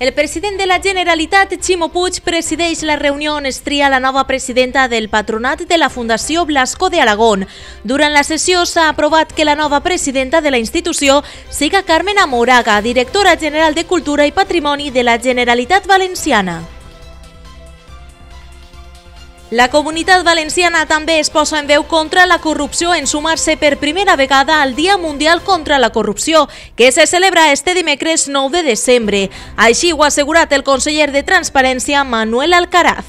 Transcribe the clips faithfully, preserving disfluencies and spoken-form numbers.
El president de la Generalitat, Ximo Puig, presideix la reunió on es tria la nova presidenta del patronat de la Fundació Blasco de Alagón. Durant la sessió s'ha aprovat que la nova presidenta de la institució siga Carmen Amoraga, directora general de Cultura i Patrimoni de la Generalitat Valenciana. La Comunitat Valenciana també es posa en veu contra la corrupció en sumar-se per primera vegada al Dia Mundial contra la Corrupció, que se celebra este dimecres nou de desembre. Així ho ha assegurat el conseller de Transparència, Manuel Alcaraz.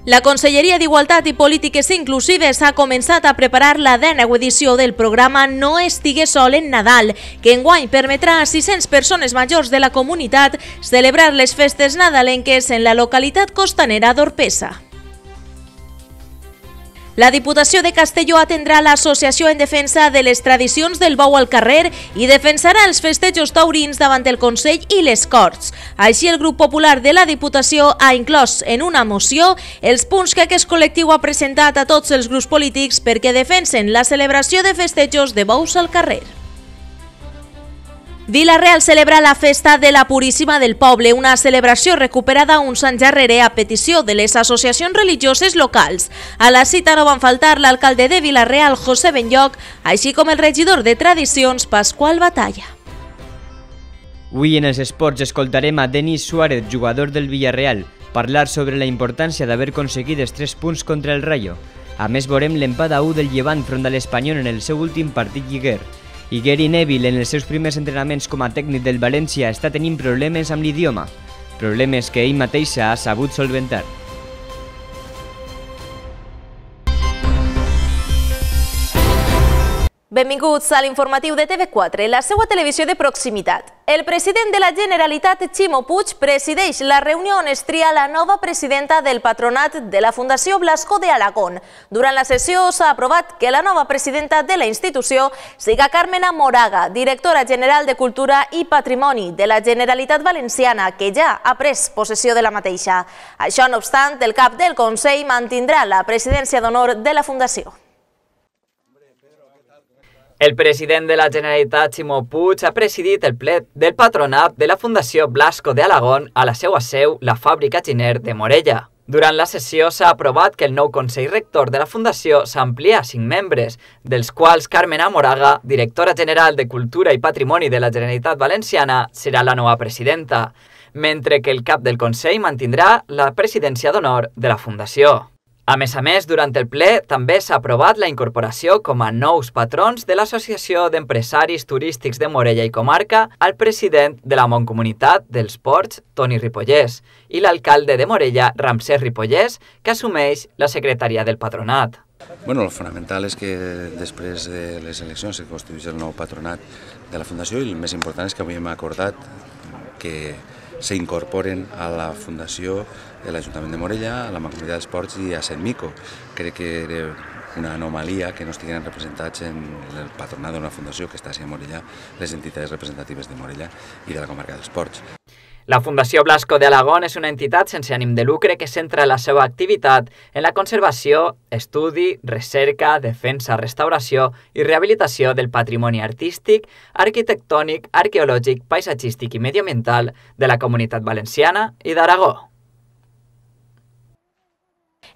La Conselleria d'Igualtat i Polítiques Inclusives ha començat a preparar la dèneu edició del programa No estigues sol en Nadal, que enguany permetrà a sis-centes persones majors de la comunitat celebrar les festes nadalenques en la localitat costanera d'Orpesa. La Diputació de Castelló atendrà l'Associació en Defensa de les Tradicions del Bou al Carrer i defensarà els festejos taurins davant el Consell i les Corts. Així, el Grup Popular de la Diputació ha inclòs en una moció els punts que aquest col·lectiu ha presentat a tots els grups polítics perquè defensen la celebració de festejos de bous al carrer. Vila-real celebra la Festa de la Puríssima del Poble, una celebració recuperada uns anys darrere a petició de les associacions religioses locals. A la cita no van faltar l'alcalde de Vila-real, José Benlloc, així com el regidor de Tradicions, Pasqual Batalla. Avui en els esports escoltarem a Denis Suárez, jugador del Villarreal, parlar sobre la importància d'haver aconseguit els tres punts contra el Rayo. A més, veurem l'empat a u del Llevant front a l'Espanyol en el seu últim partit lliguer. I Gary Neville, en els seus primers entrenaments com a tècnic del València, està tenint problemes amb l'idioma, problemes que ell mateix ha sabut solventar. Benvinguts a l'informatiu de T V quatre, la seva televisió de proximitat. El president de la Generalitat, Ximo Puig, presideix la reunió on es tria la nova presidenta del patronat de la Fundació Blasco de Alagón. Durant la sessió s'ha aprovat que la nova presidenta de la institució siga Carmen Amoraga, directora general de Cultura i Patrimoni de la Generalitat Valenciana, que ja ha pres possessió de la mateixa. Això no obstant, el cap del Consell mantindrà la presidència d'honor de la Fundació. El president de la Generalitat, Ximo Puig, ha presidit el ple del patronat de la Fundació Blasco de Alagón a la seva seu, la fàbrica Giner de Morella. Durant la sessió s'ha aprovat que el nou Consell Rector de la Fundació s'amplia a cinc membres, dels quals Carmen Amoraga, directora general de Cultura i Patrimoni de la Generalitat Valenciana, serà la nova presidenta, mentre que el cap del Consell mantindrà la presidència d'honor de la Fundació. A més a més, durant el ple també s'ha aprovat la incorporació com a nous patrons de l'Associació d'Empresaris Turístics de Morella i Comarca al president de la Mancomunitat dels Ports, Toni Ripollès, i l'alcalde de Morella, Ramsès Ripollès, que assumeix la secretaria del patronat. Bueno, el fonamental és que després de les eleccions se constitueix el nou patronat de la Fundació i el més important és que avui hem acordat que s'incorporen a la Fundació de l'Ajuntament de Morella, a la Mancomunitat dels Ports i a Centmico. Crec que era una anomalia que no estiguin representats en el patronat d'una fundació que està a Morella les entitats representatives de Morella i de la comarca dels Ports. La Fundació Blasco de Alagón és una entitat sense ànim de lucre que centra la seva activitat en la conservació, estudi, recerca, defensa, restauració i rehabilitació del patrimoni artístic, arquitectònic, arqueològic, paisatgístic i mediambiental de la Comunitat Valenciana i d'Aragó.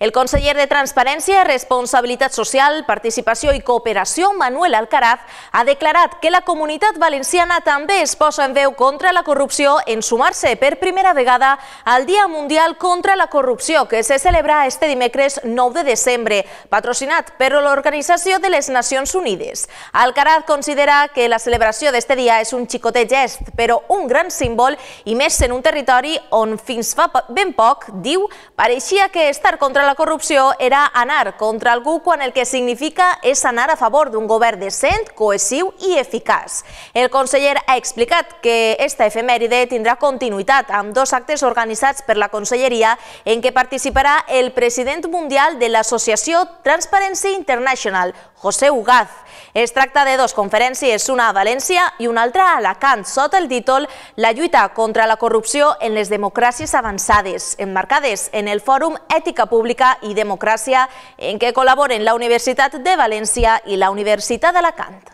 El conseller de Transparència, Responsabilitat Social, Participació i Cooperació, Manuel Alcaraz, ha declarat que la Comunitat Valenciana també es posa en veu contra la corrupció en sumar-se per primera vegada al Dia Mundial contra la Corrupció, que se celebra este dimecres nou de desembre, patrocinat per l'Organització de les Nacions Unides. Alcaraz considera que la celebració d'este dia és un xicotet gest, però un gran símbol, i més en un territori on fins fa ben poc, diu, pareixia que estar contra la La corrupció era anar contra algú quan el que significa és anar a favor d'un govern decent, cohesiu i eficaç. El conseller ha explicat que esta efemèride tindrà continuïtat amb dos actes organitzats per la Conselleria en què participarà el president mundial de l'Associació Transparency International, José Ugaz. Es tracta de dues conferències, una a València i una altra a Alacant, sota el títol La lluita contra la corrupció en les democràcies avançades, emmarcades en el Fòrum Ètica Pública i Democràcia, en què col·laboren la Universitat de València i la Universitat d'Alacant.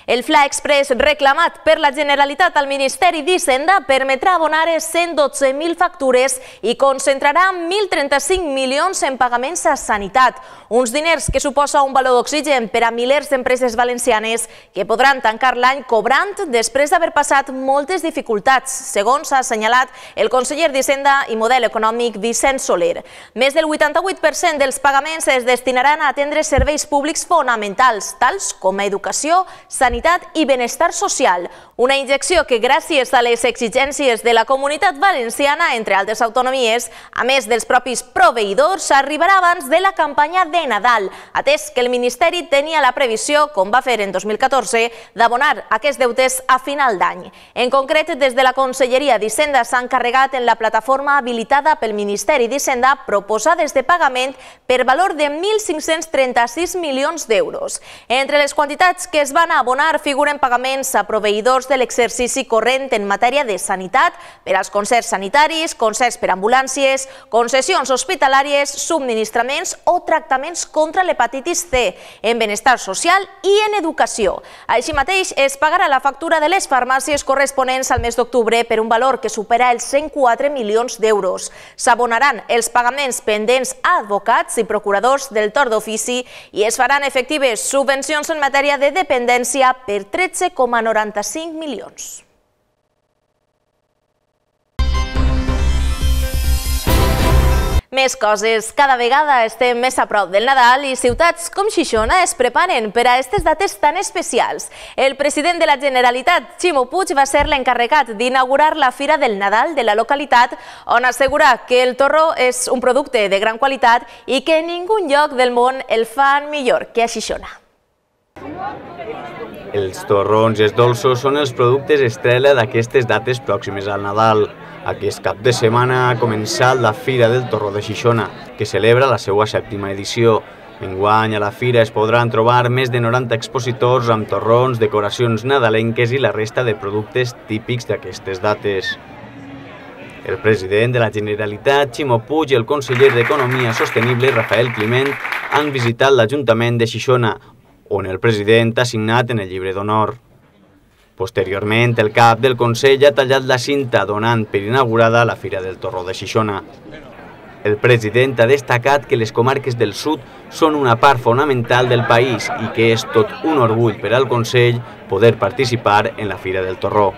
El Fla Express reclamat per la Generalitat al Ministeri d'Hisenda permetrà abonar cent dotze mil factures i concentrarà mil trenta-cinc milions en pagaments a sanitat, uns diners que suposa un valor d'oxigen per a milers d'empreses valencianes que podran tancar l'any cobrant després d'haver passat moltes dificultats, segons ha assenyalat el conseller d'Hisenda i Model Econòmic Vicent Soler. Més del vuitanta-vuit per cent dels pagaments es destinaran a atendre serveis públics fonamentals, tals com educació, sanitat i benestar social, una injecció que gràcies a les exigències de la Comunitat Valenciana, entre altres autonomies, a més dels propis proveïdors, arribarà abans de la campanya de Nadal, atès que el Ministeri tenia la previsió, com va fer en dos mil catorze, d'abonar aquests deutes a final d'any. En concret, des de la Conselleria d'Hisenda s'ha encarregat en la plataforma habilitada pel Ministeri d'Hisenda proposades de pagament per valor de mil cinc-cents trenta-sis milions d'euros. Entre les quantitats que es van abonar figuren pagaments a proveïdors de l'exercici corrent en matèria de sanitat per als concerts sanitaris, concerts per ambulàncies, concessions hospitalàries, subministraments o tractaments contra l'hepatitis C, en benestar social i en educació. Així mateix, es pagarà la factura de les farmàcies corresponents al mes d'octubre per un valor que supera els cent quatre milions d'euros. S'abonaran els pagaments pendents a advocats i procuradors del torn d'ofici i es faran efectives subvencions en matèria de dependència per tretze coma noranta-cinc milions. Més coses. Cada vegada estem més a prop del Nadal i ciutats com Xixona es preparen per a aquestes dates tan especials. El president de la Generalitat, Ximo Puig, va ser l'encarregat d'inaugurar la Fira del Nadal de la localitat, on assegura que el torró és un producte de gran qualitat i que en ningú lloc del món el fan millor que a Xixona. Els torrons i els dolços són els productes estrella d'aquestes dates pròximes al Nadal. Aquest cap de setmana ha començat la Fira del Torró de Xixona, que celebra la seva sèptima edició. Enguany a la fira es podran trobar més de noranta expositors amb torrons, decoracions nadalenques i la resta de productes típics d'aquestes dates. El president de la Generalitat, Ximo Puig, i el conseller d'Economia Sostenible, Rafael Climent, han visitat l'Ajuntament de Xixona, on el president ha signat en el llibre d'honor. Posteriorment, el cap del Consell ha tallat la cinta donant per inaugurada la Fira del Torró de Xixona. El president ha destacat que les comarques del sud són una part fonamental del país i que és tot un orgull per al Consell poder participar en la Fira del Torró.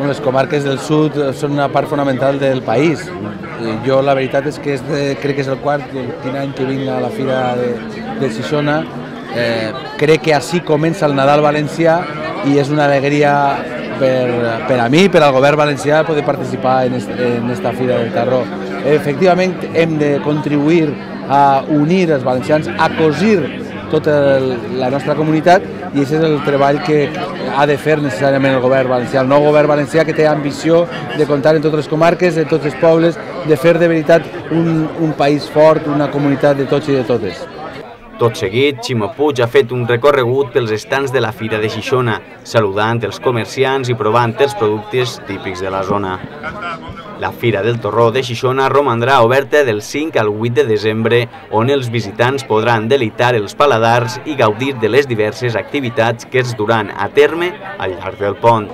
Les comarques del sud són una part fonamental del país. Jo la veritat és que és de, crec que és el quart quin any que vinc a la Fira de, de Xixona. Eh, crec que així comença el Nadal valencià i és una alegria per, per a mi, per al govern valencià, poder participar en, est, en esta Fira del Torró. Efectivament, hem de contribuir a unir els valencians, a cosir tota el, la nostra comunitat, i aquest és el treball que ha de fer necessàriament el govern valencià. El nou govern valencià que té ambició de comptar en totes les comarques, en tots els pobles, de fer de veritat un, un país fort, una comunitat de tots i de totes. Tot seguit, Ximo Puig ha fet un recorregut pels estants de la Fira de Xixona, saludant els comerciants i provant els productes típics de la zona. La Fira del Torró de Xixona romandrà oberta del cinc al vuit de desembre, on els visitants podran deleitar els paladars i gaudir de les diverses activitats que es duran a terme al llarg del pont.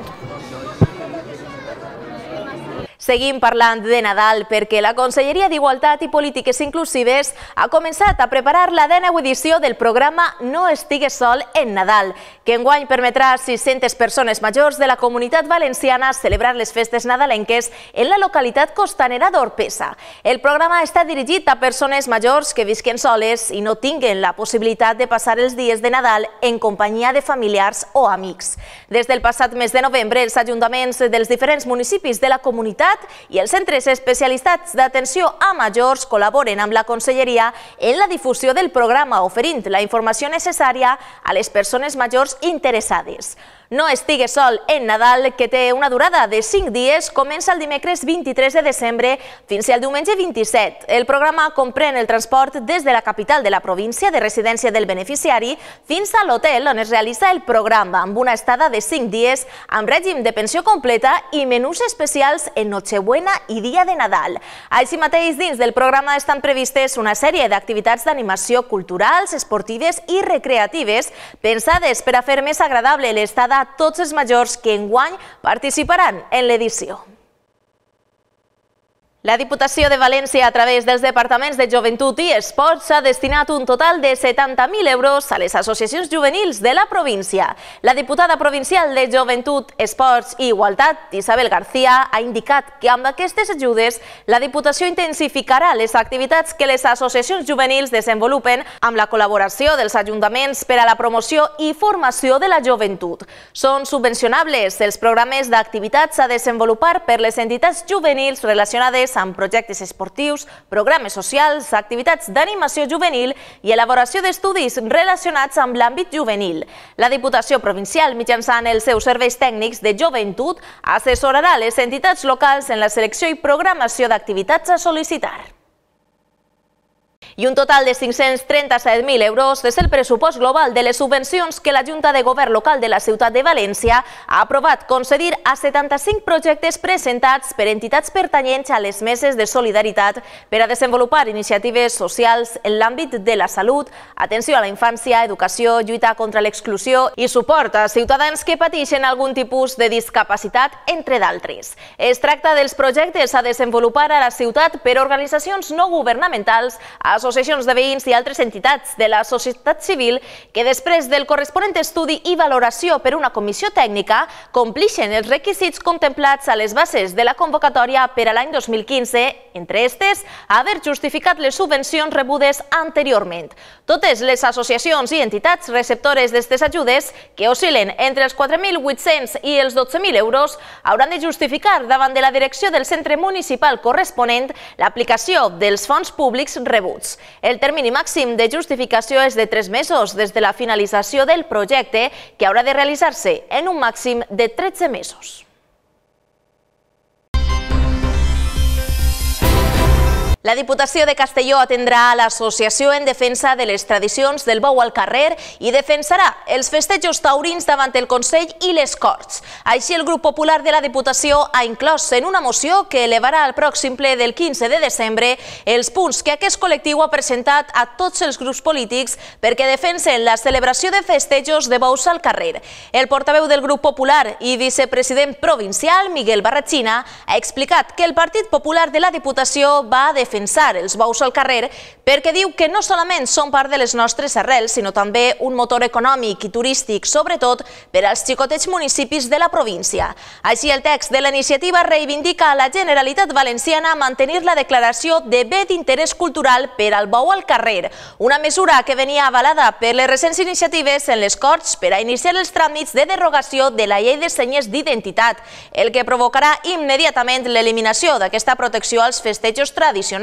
Seguim parlant de Nadal perquè la Conselleria d'Igualtat i Polítiques Inclusives ha començat a preparar la dèneu edició del programa No estigues sol en Nadal, que enguany permetrà a sis-centes persones majors de la Comunitat Valenciana celebrar les festes nadalenques en la localitat costanera d'Orpesa. El programa està dirigit a persones majors que visquen soles i no tinguen la possibilitat de passar els dies de Nadal en companyia de familiars o amics. Des del passat mes de novembre, els ajuntaments dels diferents municipis de la comunitat i els centres especialitzats d'atenció a majors col·laboren amb la Conselleria en la difusió del programa, oferint la informació necessària a les persones majors interessades. No estigues sol en Nadal, que té una durada de cinc dies, comença el dimecres vint-i-tres de desembre fins al diumenge vint-i-set. El programa comprèn el transport des de la capital de la província de residència del beneficiari fins a l'hotel on es realitza el programa, amb una estada de cinc dies amb règim de pensió completa i menús especials en Nochebuena i Dia de Nadal. Així mateix, dins del programa estan previstes una sèrie d'activitats d'animació culturals, esportives i recreatives pensades per a fer més agradable l'estada a tots els majors que enguany participaran en l'edició. La Diputació de València, a través dels Departaments de Joventut i Esports, ha destinat un total de setanta mil euros a les associacions juvenils de la província. La diputada provincial de Joventut, Esports i Igualtat, Isabel García, ha indicat que amb aquestes ajudes la Diputació intensificarà les activitats que les associacions juvenils desenvolupen amb la col·laboració dels ajuntaments per a la promoció i formació de la joventut. Són subvencionables els programes d'activitats a desenvolupar per les entitats juvenils relacionades amb projectes esportius, programes socials, activitats d'animació juvenil i elaboració d'estudis relacionats amb l'àmbit juvenil. La Diputació Provincial, mitjançant els seus serveis tècnics de joventut, assessorarà les entitats locals en la selecció i programació d'activitats a sol·licitar. I un total de cinc-cents trenta-set mil euros és el pressupost global de les subvencions que la Junta de Govern Local de la Ciutat de València ha aprovat concedir a setanta-cinc projectes presentats per entitats pertanyents a les meses de solidaritat per a desenvolupar iniciatives socials en l'àmbit de la salut, atenció a la infància, educació, lluita contra l'exclusió i suport a ciutadans que pateixen algun tipus de discapacitat, entre d'altres. Es tracta dels projectes a desenvolupar a la ciutat per organitzacions no governamentals, associacions de veïns i altres entitats de la societat civil que després del corresponent estudi i valoració per una comissió tècnica complixen els requisits contemplats a les bases de la convocatòria per a l'any dos mil quinze, entre aquestes, haver justificat les subvencions rebudes anteriorment. Totes les associacions i entitats receptores d'aquestes ajudes, que oscil·len entre els quatre mil vuit-cents i els dotze mil euros, hauran de justificar davant de la direcció del centre municipal corresponent l'aplicació dels fons públics rebuts. El termini màxim de justificació és de tres mesos des de la finalització del projecte, que haurà de realitzar-se en un màxim de tretze mesos. La Diputació de Castelló atendrà a l'Associació en Defensa de les Tradicions del Bou al Carrer i defensarà els festejos taurins davant el Consell i les Corts. Així, el grup popular de la Diputació ha inclòs en una moció que elevarà al pròxim ple del quinze de desembre els punts que aquest col·lectiu ha presentat a tots els grups polítics perquè defensen la celebració de festejos de bous al carrer. El portaveu del grup popular i vicepresident provincial, Miguel Barratxina, ha explicat que el Partit Popular de la Diputació va a defensar defensar els bous al carrer perquè diu que no solament són part de les nostres arrels, sinó també un motor econòmic i turístic, sobretot per als xicotets municipis de la província. Així, el text de la iniciativa reivindica a la Generalitat Valenciana mantenir la declaració de bé d'interès cultural per al bou al carrer, una mesura que venia avalada per les recents iniciatives en les Corts per a iniciar els tràmits de derogació de la llei de senyes d'identitat, el que provocarà immediatament l'eliminació d'aquesta protecció als festejos tradicionals,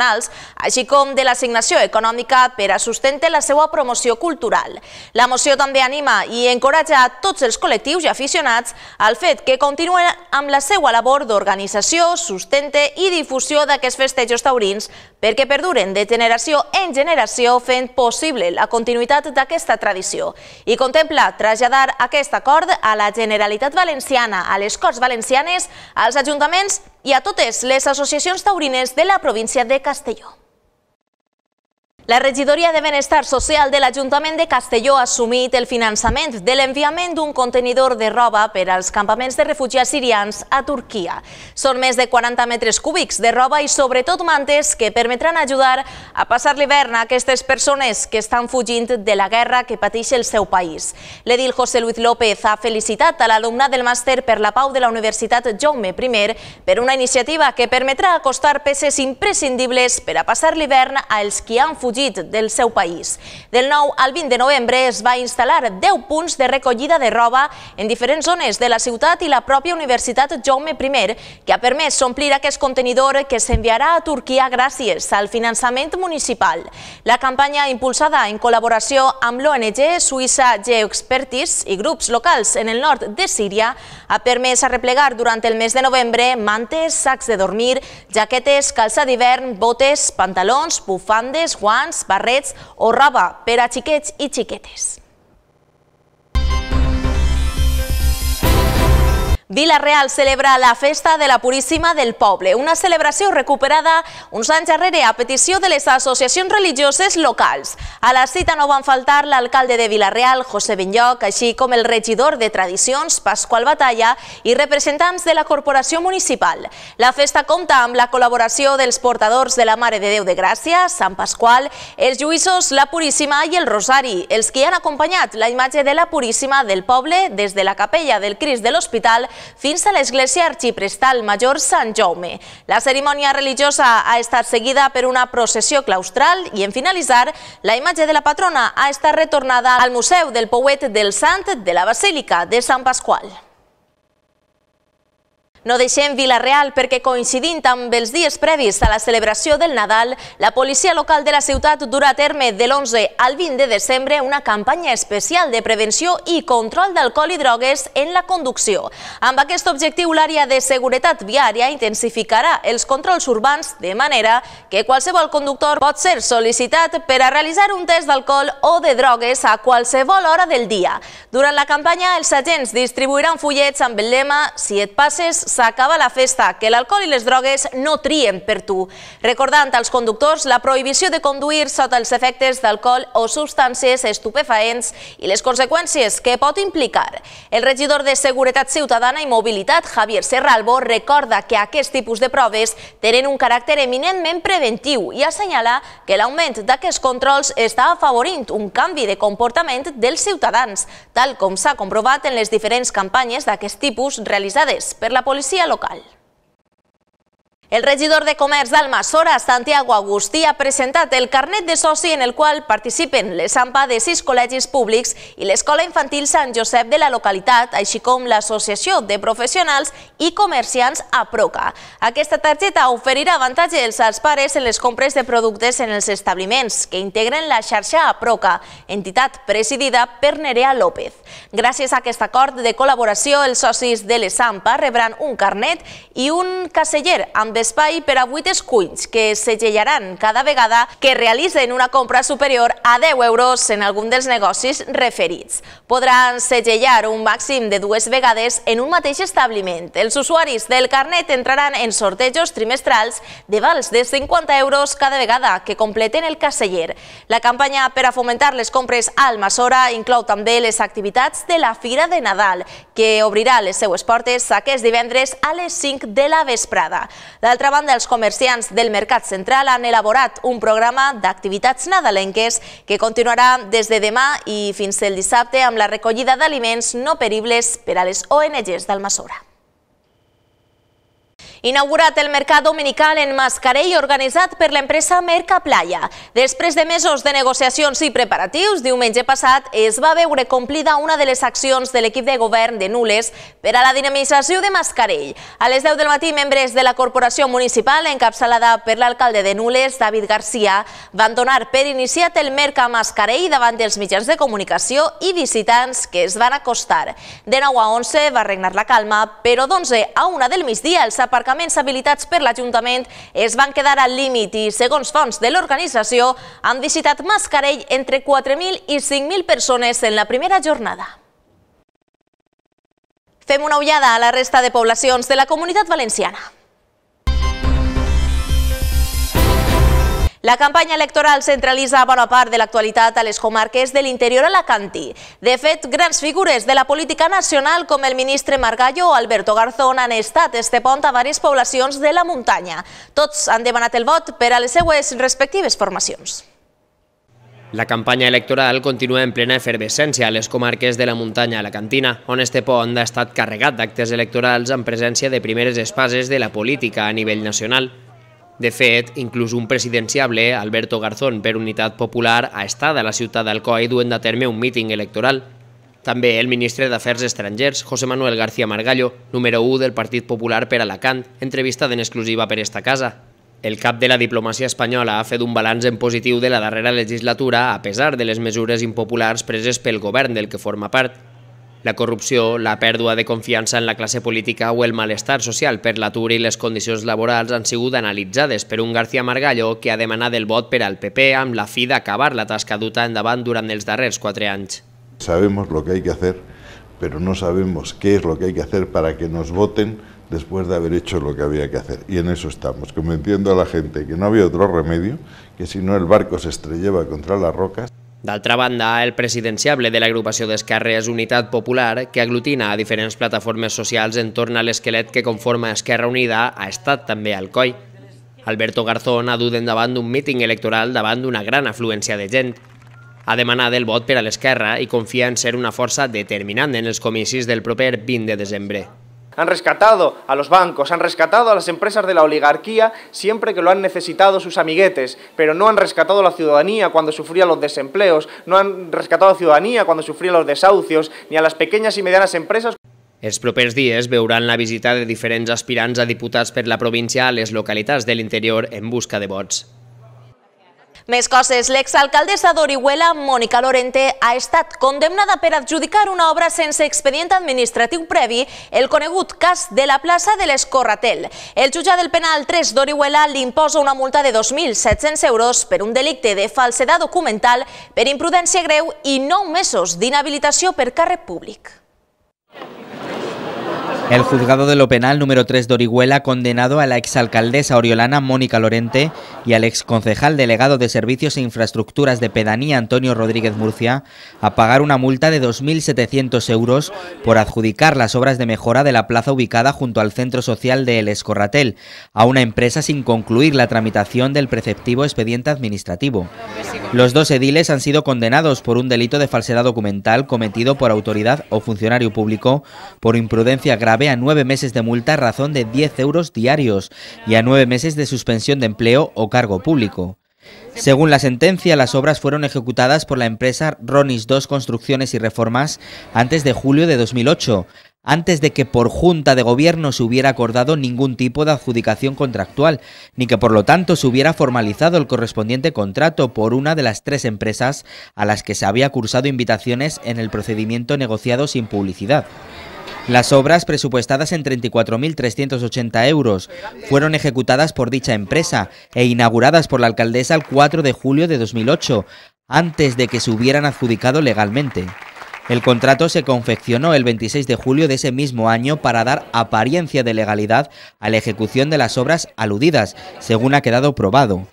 així com de l'assignació econòmica per a sustentar la seva promoció cultural. La moció també anima i encoratja a tots els col·lectius i aficionats al fet que continuen amb la seva labor d'organització, sustente i difusió d'aquests festejos taurins perquè perduren de generació en generació fent possible la continuïtat d'aquesta tradició i contempla traslladar aquest acord a la Generalitat Valenciana, a les Corts Valencianes, als ajuntaments i a totes les associacions taurines de la província de Castelló. La Regidoria de Benestar Social de l'Ajuntament de Castelló ha assumit el finançament de l'enviament d'un contenidor de roba per als campaments de refugiats sirians a Turquia. Són més de quaranta metres cúbics de roba i sobretot mantes que permetran ajudar a passar l'hivern a aquestes persones que estan fugint de la guerra que pateix el seu país. L'edil José Luis López ha felicitat a l'alumnat del màster per la pau de la Universitat Jaume I per una iniciativa que permetrà acostar peces imprescindibles per a passar l'hivern als qui han fugit fugit del seu país. Del nou al vint de novembre es va instal·lar deu punts de recollida de roba en diferents zones de la ciutat i la pròpia Universitat Jaume primer, que ha permès omplir aquest contenidor que s'enviarà a Turquia gràcies al finançament municipal. La campanya, impulsada en col·laboració amb l'O N G Suïssa Geoexpertise i grups locals en el nord de Síria, ha permès arreplegar durant el mes de novembre mantes, sacs de dormir, jaquetes, calça d'hivern, botes, pantalons, bufandes, guants, barrets o roba per a xiquets i xiquetes. Vila-real celebra la Festa de la Puríssima del Poble, una celebració recuperada uns anys darrere a petició de les associacions religioses locals. A la cita no van faltar l'alcalde de Vila-real, José Benlloc, així com el regidor de Tradicions, Pasqual Batalla, i representants de la corporació municipal. La festa compta amb la col·laboració dels portadors de la Mare de Déu de Gràcia, Sant Pasqual, els lluïssos, la Puríssima i el Rosari, els que han acompanyat la imatge de la Puríssima del poble des de la capella del Crist de l'Hospital fins a l'església arxiprestal major Sant Jaume. La cerimònia religiosa ha estat seguida per una processió claustral i, en finalitzar, la imatge de la patrona ha estat retornada al Museu del Pouet del Sant de la Basílica de Sant Pasqual. No deixem Vila-real perquè, coincidint amb els dies previs a la celebració del Nadal, la policia local de la ciutat durà a terme de l'onze al vint de desembre una campanya especial de prevenció i control d'alcohol i drogues en la conducció. Amb aquest objectiu, l'àrea de seguretat viària intensificarà els controls urbans de manera que qualsevol conductor pot ser sol·licitat per a realitzar un test d'alcohol o de drogues a qualsevol hora del dia. Durant la campanya, els agents distribuiran fullets amb el lema «Si et passes, s'acaba la festa, que l'alcohol i les drogues no trien per tu», recordant als conductors la prohibició de conduir sota els efectes d'alcohol o substàncies estupefaents i les conseqüències que pot implicar. El regidor de Seguretat Ciutadana i Mobilitat, Javier Serralbo, recorda que aquest tipus de proves tenen un caràcter eminentment preventiu i assenyala que l'augment d'aquests controls està afavorint un canvi de comportament dels ciutadans, tal com s'ha comprovat en les diferents campanyes d'aquest tipus realitzades per la policia local. El regidor de Comerç d'Almassora, Santiago Agustí, ha presentat el carnet de soci en el qual participen les A M P A de sis col·legis públics i l'Escola Infantil Sant Josep de la localitat, així com l'Associació de Professionals i Comerciants APROCA. Aquesta targeta oferirà avantatges als pares en les compres de productes en els establiments que integren la xarxa APROCA, entitat presidida per Nerea López. Gràcies a aquest acord de col·laboració, els socis de les A M P A rebran un carnet i un caseller amb d'espai per a vuit esculls que segellaran cada vegada que realitzen una compra superior a deu euros en algun dels negocis referits. Podran segellar un màxim de dues vegades en un mateix establiment. Els usuaris del carnet entraran en sortejos trimestrals de vals de cinquanta euros cada vegada que completen el caseller. La campanya per a fomentar les compres a Almassora inclou també les activitats de la Fira de Nadal, que obrirà les seues portes aquest divendres a les cinc de la vesprada. D'altra banda, els comerciants del Mercat Central han elaborat un programa d'activitats nadalenques que continuarà des de demà i fins el dissabte amb la recollida d'aliments no peribles per a les O N Ges d'Almassora. Inaugurat el mercat dominical en Mascarell organitzat per l'empresa Mercaplaya. Després de mesos de negociacions i preparatius, diumenge passat es va veure complida una de les accions de l'equip de govern de Nules per a la dinamització de Mascarell. A les deu del matí, membres de la corporació municipal, encapçalada per l'alcalde de Nules, David Garcia, van donar per iniciat el Merca Mascarell davant dels mitjans de comunicació i visitants que es van acostar. De nou a onze va regnar la calma, però d'onze a una del migdia els aparcaments habilitats per l'Ajuntament es van quedar al límit i, segons fonts de l'organització, han visitat Mascarell entre quatre mil i cinc mil persones en la primera jornada. Fem una ullada a la resta de poblacions de la Comunitat Valenciana. La campanya electoral centralitza bona part de l'actualitat a les comarques de l'interior alacantí. De fet, grans figures de la política nacional com el ministre Margallo o Alberto Garzón han estat este pont a diverses poblacions de la muntanya. Tots han demanat el vot per a les seues respectives formacions. La campanya electoral continua en plena efervescència a les comarques de la muntanya alacantina, on este pont ha estat carregat d'actes electorals en presència de primeres espases de la política a nivell nacional. De fet, inclús un presidenciable, Alberto Garzón, per Unitat Popular, ha estat a la ciutat d'Alcoi duent a terme un míting electoral. També el ministre d'Afers Estrangers, José Manuel García Margallo, número u del Partit Popular per Alacant, entrevistat en exclusiva per esta casa. El cap de la diplomàcia espanyola ha fet un balanç en positiu de la darrera legislatura a pesar de les mesures impopulars preses pel govern del que forma part. La corrupció, la pèrdua de confiança en la classe política o el malestar social per l'atur i les condicions laborals han sigut analitzades per un García Margallo que ha demanat el vot per al P P amb la fi d'acabar la tasca duta endavant durant els darrers quatre anys. Sabemos lo que hay que hacer, pero no sabemos qué es lo que hay que hacer para que nos voten después de haber hecho lo que había que hacer. Y en eso estamos, convenciendo a la gente que no había otro remedio, que si no el barco se estrellaba contra las rocas. D'altra banda, el presidenciable de l'agrupació d'esquerres Unitat Popular, que aglutina a diferents plataformes socials entorn a l'esquelet que conforma Esquerra Unida, ha estat també a Alcoi. Alberto Garzón ha dut endavant un míting electoral davant d'una gran afluència de gent. Ha demanat el vot per a l'esquerra i confia en ser una força determinant en els comicis del proper vint de desembre. Han rescatado a los bancos, han rescatado a las empresas de la oligarquía siempre que lo han necesitado sus amiguetes, pero no han rescatado a la ciudadanía cuando sufría los desempleos, no han rescatado a la ciudadanía cuando sufría los desahucios, ni a las pequeñas y medianas empresas. Els propers dies veuran la visita de diferents aspirants a diputats per la província a les localitats de l'interior en busca de vots. Més coses. L'exalcaldessa d'Orihuela, Mónica Lorente, ha estat condemnada per adjudicar una obra sense expedient administratiu previ, el conegut cas de la plaça de l'Escorratel. El jutjat del penal tres d'Orihuela li imposa una multa de dos mil set-cents euros per un delicte de falsedat documental per imprudència greu i nou mesos d'inhabilitació per càrrec públic. El juzgado de lo penal número tres de Orihuela ha condenado a la exalcaldesa oriolana Mónica Lorente y al exconcejal delegado de Servicios e Infraestructuras de Pedanía Antonio Rodríguez Murcia a pagar una multa de dos mil setecientos euros por adjudicar las obras de mejora de la plaza ubicada junto al centro social de El Escorratel a una empresa sin concluir la tramitación del preceptivo expediente administrativo. Los dos ediles han sido condenados por un delito de falsedad documental cometido por autoridad o funcionario público por imprudencia grave a nueve meses de multa a razón de diez euros diarios y a nueve meses de suspensión de empleo o cargo público. Según la sentencia, las obras fueron ejecutadas por la empresa Ronis dos Construcciones y Reformas antes de julio de dos mil ocho, antes de que por Junta de Gobierno se hubiera acordado ningún tipo de adjudicación contractual, ni que por lo tanto se hubiera formalizado el correspondiente contrato por una de las tres empresas a las que se había cursado invitaciones en el procedimiento negociado sin publicidad. Las obras, presupuestadas en treinta y cuatro mil trescientos ochenta euros, fueron ejecutadas por dicha empresa e inauguradas por la alcaldesa el cuatro de julio de dos mil ocho, antes de que se hubieran adjudicado legalmente. El contrato se confeccionó el veintiséis de julio de ese mismo año para dar apariencia de legalidad a la ejecución de las obras aludidas, según ha quedado probado.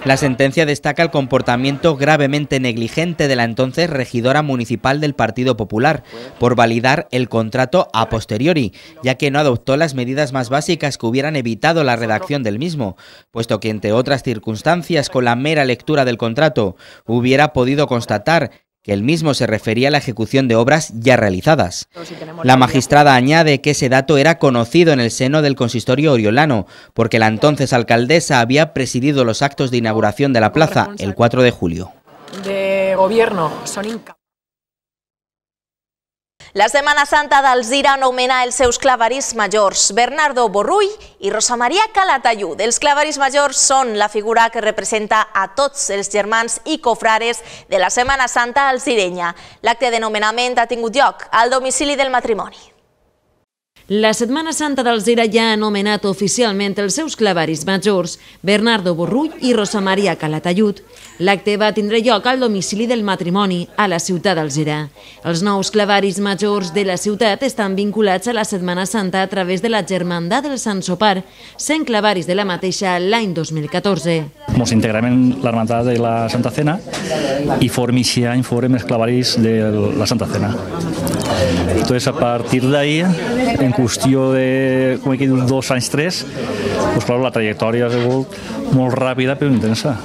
La sentencia destaca el comportamiento gravemente negligente de la entonces regidora municipal del Partido Popular por validar el contrato a posteriori, ya que no adoptó las medidas más básicas que hubieran evitado la redacción del mismo, puesto que entre otras circunstancias con la mera lectura del contrato hubiera podido constatar que el mismo se refería a la ejecución de obras ya realizadas. La magistrada añade que ese dato era conocido en el seno del consistorio oriolano, porque la entonces alcaldesa había presidido los actos de inauguración de la plaza el cuatro de julio. De gobierno son incapaces. La Setmana Santa d'Alzira anomena els seus clavaris majors, Bernardo Borrull i Rosa Maria Calatayud. Els clavaris majors són la figura que representa a tots els germans i cofrares de la Setmana Santa alzirenya. L'acte de nomenament ha tingut lloc al domicili del matrimoni. La Setmana Santa d'Alzira ja ha anomenat oficialment els seus clavaris majors, Bernardo Borrull i Rosa Maria Calatayud. L'acte va tindre lloc al domicili del matrimoni, a la ciutat d'Alzira. Els nous clavaris majors de la ciutat estan vinculats a la Setmana Santa a través de la Germandat del Sant Sopar, sent clavaris de la mateixa l'any dos mil catorze. Ens integrem en l'Hermandat de la Santa Cena i form aquest any forem els clavaris de la Santa Cena. Entonces, a partir d'ahí, en qüestió de com he dit, dos anys, tres, pues, claro, la trajectòria ha sigut molt ràpida però intensa.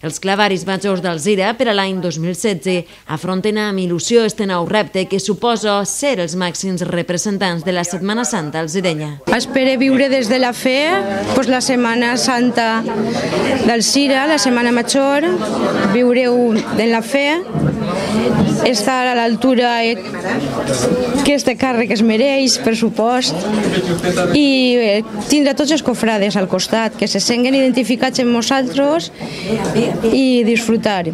Els clavaris majors d'Alzira per a l'any dos mil setze afronten amb il·lusió este nou repte que suposa ser els màxims representants de la Setmana Santa alzirenya. Espero viure des de la fe pues, la Setmana Santa d'Alzira, la Setmana Major, viure-ho en la fe, estar a l'altura que este càrrec es mereix, per supost, i tindre tots els cofrades al costat, que se senten identificats amb nosaltres i disfrutar.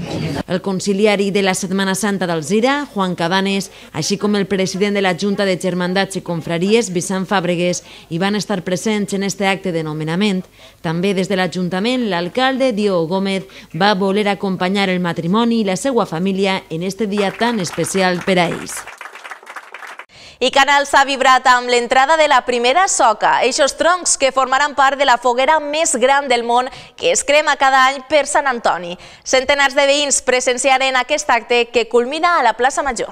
El conciliari de la Setmana Santa d'Alzira, Juan Cabanes, així com el president de la Junta de Germandats i Confraries, Vicent Fàbregues, hi van estar presents en este acte de nomenament. També des de l'Ajuntament, l'alcalde Diogo Gómez va voler acompanyar el matrimoni i la seva família en este dia tan especial per a ells. I Canals ha vibrat amb l'entrada de la primera soca, eixos troncs que formaran part de la foguera més gran del món que es crema cada any per Sant Antoni. Centenars de veïns presenciaren aquest acte que culmina a la plaça Major.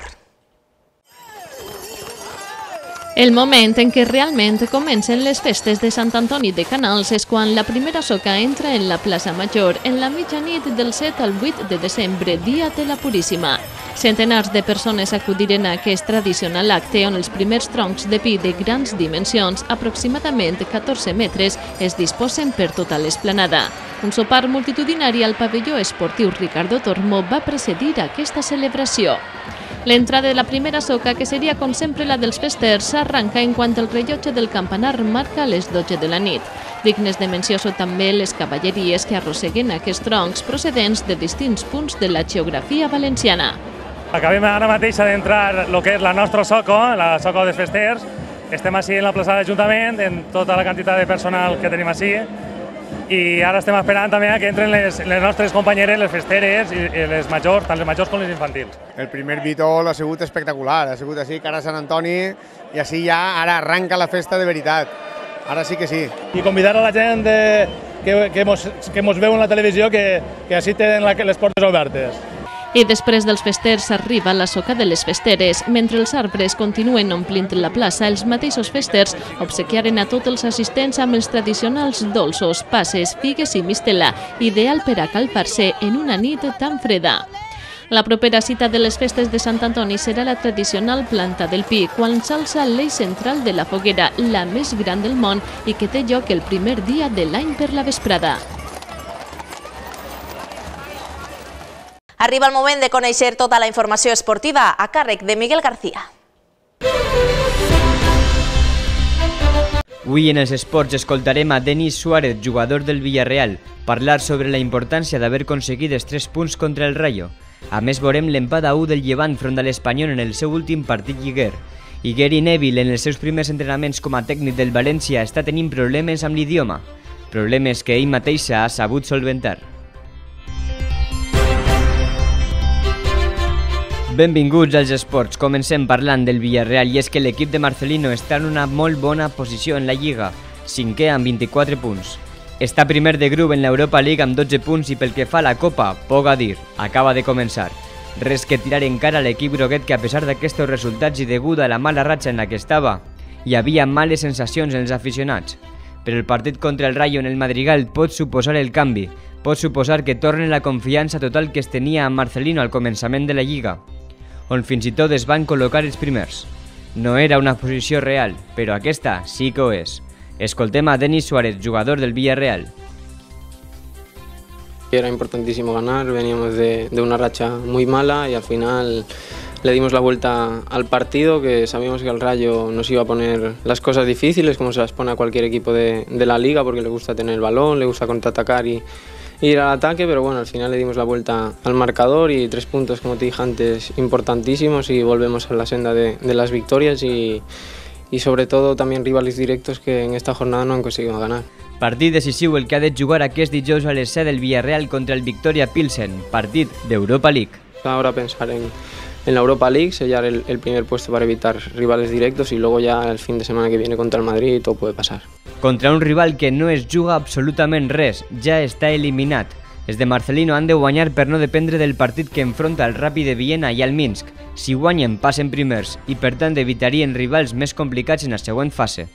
El moment en què realment comencen les festes de Sant Antoni de Canals és quan la primera soca entra en la plaça Major en la mitjanit del set al vuit de desembre, dia de la Puríssima. Centenars de persones acudiren a aquest tradicional acte on els primers troncs de pi de grans dimensions, aproximadament catorze metres, es disposen per tota l'esplanada. Un sopar multitudinari al pavelló esportiu Ricardo Tormo va precedir aquesta celebració. L'entrada de la primera soca, que seria com sempre la dels festers, s'arranca en quant el rellotge del campanar marca les dotze de la nit. Dignes de menció són també les cavalleries que arrosseguen aquests troncs procedents de distints punts de la geografia valenciana. Acabem ara mateix d'entrar el que és la nostra soca, la soca dels festers. Estem així en la plaça de l'Ajuntament, en tota la quantitat de personal que tenim així. I ara estem esperant també que entren les, les nostres companyeres, les festeres i, i les majors, tant les majors com les infantils. El primer vitol ha sigut espectacular, ha sigut així, cara a Sant Antoni, i així ja ara arranca la festa de veritat. Ara sí que sí. I convidar a la gent de, que, que, mos, que mos veu en la televisió que, que així tenen la, les portes obertes. I després dels festers arriba la soca de les festeres. Mentre els arbres continuen omplint la plaça, els mateixos festers obsequiaren a tots els assistents amb els tradicionals dolços, passes, figues i mistela, ideal per a calpar-se en una nit tan freda. La propera cita de les festes de Sant Antoni serà la tradicional planta del pi, quan s'alça l'eix central de la foguera, la més gran del món i que té lloc el primer dia de l'any per la vesprada. Arriba el moment de conèixer tota la informació esportiva a càrrec de Miguel García. Avui en els esports escoltarem a Denis Suárez, jugador del Villarreal, parlar sobre la importància d'haver aconseguit els tres punts contra el Rayo. A més, veurem l'empat a u del Llevant front a l'Espanyol en el seu últim partit lliguer. I Gary Neville, en els seus primers entrenaments com a tècnic del València, està tenint problemes amb l'idioma. Problemes que ell mateix ha sabut solventar. Benvinguts als esports. Comencem parlant del Villarreal i és que l'equip de Marcelino està en una molt bona posició en la Lliga, cinquè amb vint-i-quatre punts. Està primer de grup en l'Europa League amb dotze punts i pel que fa a la Copa, poc a dir, acaba de començar. Res que tirar encara a l'equip groguet que a pesar d'aquests resultats i degut a la mala ratxa en la que estava, hi havia males sensacions en els aficionats. Però el partit contra el Rayo en el Madrigal pot suposar el canvi, pot suposar que torni la confiança total que es tenia amb Marcelino al començament de la Lliga, on fins i tot es van col·locar els primers. No era una posició real, però aquesta sí que ho és. Escoltem a Denis Suárez, jugador del Villarreal. Era importantísimo ganar, veníamos de, de una racha muy mala y al final le dimos la vuelta al partido, que sabíamos que el Rayo nos iba a poner las cosas difíciles, como se las pone a cualquier equipo de, de la Liga, porque le gusta tener el balón, le gusta contraatacar y ir al ataque, pero bueno, al final le dimos la vuelta al marcador y tres puntos, como te dije antes, importantísimos y volvemos a la senda de, de las victorias y, y sobre todo también rivales directos que en esta jornada no han conseguido ganar. Partit decisiu el que ha de jugar aquest dijous a les set del Villarreal contra el Victoria Pilsen, partit d'Europa League. Ahora pensar en, en la Europa League, sellar el, el primer puesto para evitar rivales directos y luego ya el fin de semana que viene contra el Madrid todo puede pasar. Contra un rival que no es juga absolutament res, ja està eliminat. Els de Marcelino han de guanyar per no dependre del partit que enfronta el Rapid de Viena i el Minsk. Si guanyen, passen primers i per tant evitarien rivals més complicats en la següent fase.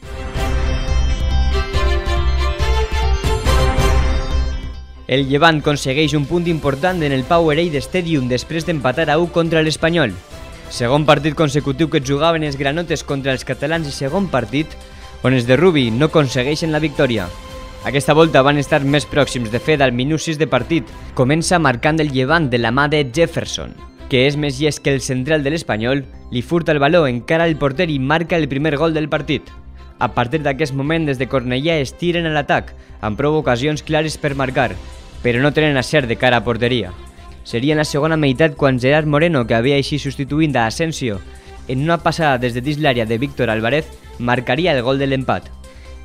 El Llevant aconsegueix un punt important en el Powerade Stadium després d'empatar a u contra l'Espanyol. Segon partit consecutiu que jugaven els granotes contra els catalans i segon partit on els de Rubi no aconsegueixen la victòria. Aquesta volta van estar més pròxims, de fet, al minut sis de partit. Comença marcant el Llevant de la mà de Jefferson, que és més llest que el central de l'Espanyol, li furta el baló, encara el porter i marca el primer gol del partit. A partir d'aquest moment, des de Cornellà es tiren a l'atac, amb prou ocasions clares per marcar, però no tenen acert de cara a porteria. Seria en la segona meitat quan Gerard Moreno, que havia així substituint a Asensio, en una passada des de dins l'àrea de Víctor Álvarez, marcaria el gol de l'empat.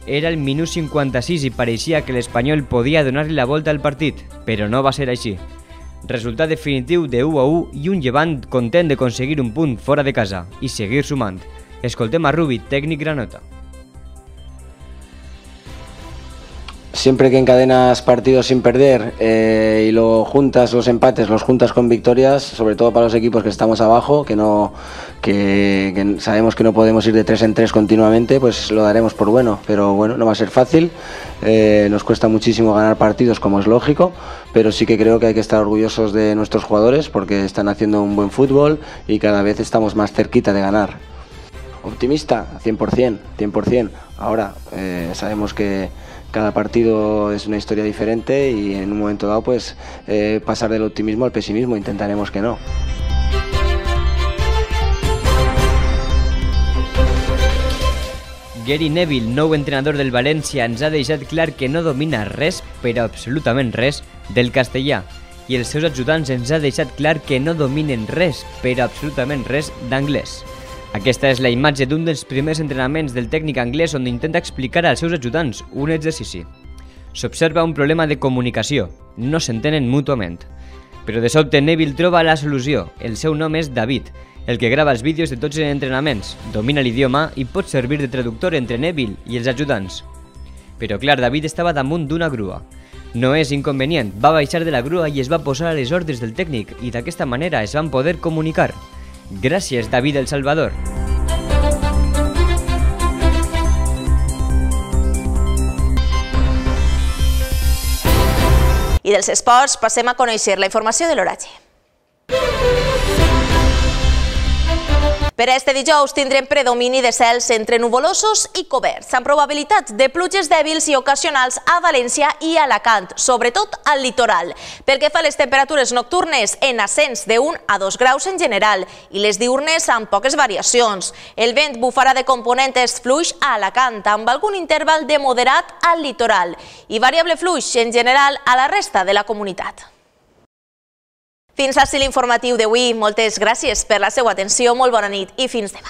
Era el minut cinquanta-sis i pareixia que l'Espanyol podia donar-li la volta al partit, però no va ser així. Resultat definitiu de u a u i un Llevant content d'aconseguir un punt fora de casa i seguir sumant. Escoltem a Rubi, tècnic granota. Siempre que encadenas partidos sin perder eh, y lo juntas los empates, los juntas con victorias, sobre todo para los equipos que estamos abajo, que no que, que sabemos que no podemos ir de tres en tres continuamente, pues lo daremos por bueno. Pero bueno, no va a ser fácil, eh, nos cuesta muchísimo ganar partidos, como es lógico, pero sí que creo que hay que estar orgullosos de nuestros jugadores porque están haciendo un buen fútbol y cada vez estamos más cerquita de ganar. Optimista, cien por cien, cien por cien. Ahora eh, sabemos que cada partido es una historia diferente y en un momento dado pues eh, pasar del optimismo al pesimismo, intentaremos que no. Gary Neville, nou entrenador del València, ens ha deixat clar que no domina res, però absolutament res, del castellà. I els seus ajudants ens ha deixat clar que no dominen res, però absolutament res, d'anglès. Aquesta és la imatge d'un dels primers entrenaments del tècnic anglès on intenta explicar als seus ajudants un exercici. S'observa un problema de comunicació, no s'entenen mútuament. Però de sobte Neville troba la solució, el seu nom és David, el que grava els vídeos de tots els entrenaments, domina l'idioma i pot servir de traductor entre Neville i els ajudants. Però clar, David estava damunt d'una grua. No és inconvenient, va baixar de la grua i es va posar a les ordres del tècnic i d'aquesta manera es van poder comunicar. Gràcies, David El Salvador. I dels esports passem a conèixer la informació de l'oratge. Per a este dijous tindrem predomini de cels entre nuvolosos i coberts, amb probabilitat de pluges dèbils i ocasionals a València i Alacant, sobretot al litoral. Pel que fa a les temperatures nocturnes, en ascens de un a dos graus en general i les diurnes amb poques variacions. El vent bufarà de component est fluix a Alacant, amb algun interval de moderat al litoral i variable fluix en general a la resta de la comunitat. Fins així l'informatiu d'avui. Moltes gràcies per la seva atenció, molt bona nit i fins demà.